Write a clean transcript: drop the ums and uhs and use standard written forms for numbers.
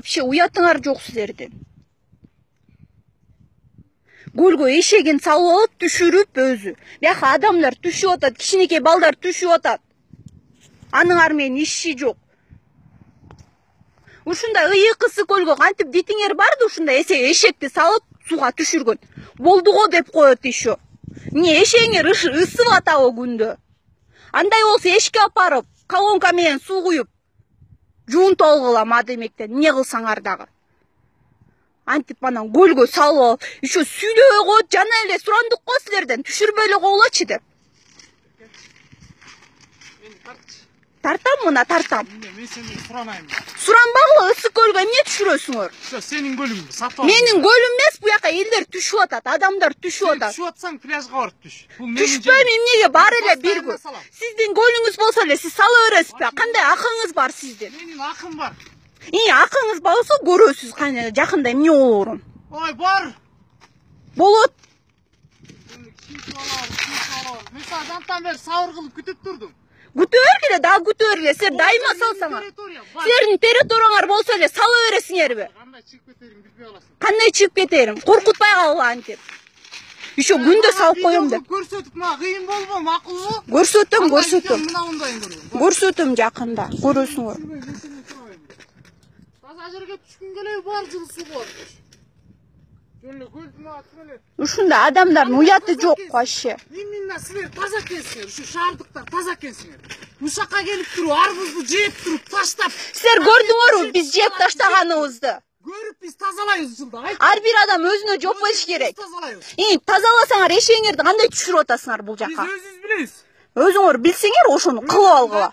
Вообще уятыңар жок силердин. Көлгө эшегин салып алып түшүрүп өзү. Бияка адамдар түшүп атат, кичинекей балдар түшүп атат. Аныңар менен иши жок. Ушундай ыйыкысы көлгө кантип дитиңер барды, ушундай эшекти салып сууга түшүргөн. Болду го деп коет еще. Эмне эшегиңер ысып атабы күндө? Андай болсо эшикке алып барып, колонка менен суу куюп, жуунтуп алгыла мадемектен, эмне кылсаңар дагы. Антип анан көлгө салып алып, еще сүйлөбөй коет, жана эле сурандык го силерден, түшүрбөй эле койгулачы деп. Тартам мына, тартам. Мен сени суранайм. Суранбагыла, ысык көлгө эмне түшүрөсүңөр? Сенин көлүңдү сатып ал. Менин көлүм эмес, буяка элдер түшүп атат, адамдар түшүп атат. Түшүп атсаң пляжга барып түш. Түшпөйм, эмнеге бар эле бир күн. Сиздин көлүңүз болсо эле сиз сала бересизби? Кандай акыңыз бар сиздин? Менин акым бар. Акыңыз болсо көрөсүз кане жакында эмне болорун. Ой, бар. Болот. Мен сага жантан бери сабыр кылып күтүп турдум. Күтө бергиле, дагы күтө бергиле. Силер дайыма салсаңар. Силердин территорияңар болсо эле сала бересиңерби? Кандай чыгып кетерин билбей каласың. Кандай чыгып кетерим? Коркутпай калгыла антип. Еще күндө салып коем деп. Көрсөтүп мага кыйын болбу, макулбу? Көрсөтөм. Мына мындайын көргөн. Көрсөтөм жакында, көрөсүңөр. Таза жерге түшкүн келеби, бар жылсы болот. Ушундай адамдардын уяты жок вообще. Именно силер таза экенсиңер, ушу шаардыктар таза экенсиңер. Ушакка келип туруп, арбузду жеп туруп, таштап. Силер көрдүңөрбү биз жеп таштаганыбызды? Көрүп биз тазалайбыз жылда. Ар бир адам өзүнө жооп бериш керек. Тазалайбыз. Тазаласаңар эшегиңерди кандай түшүрүп атасыңар бул жака? Биз өзүбүз билебиз. Өзүңөр билсеңер ошону кылып алгыла.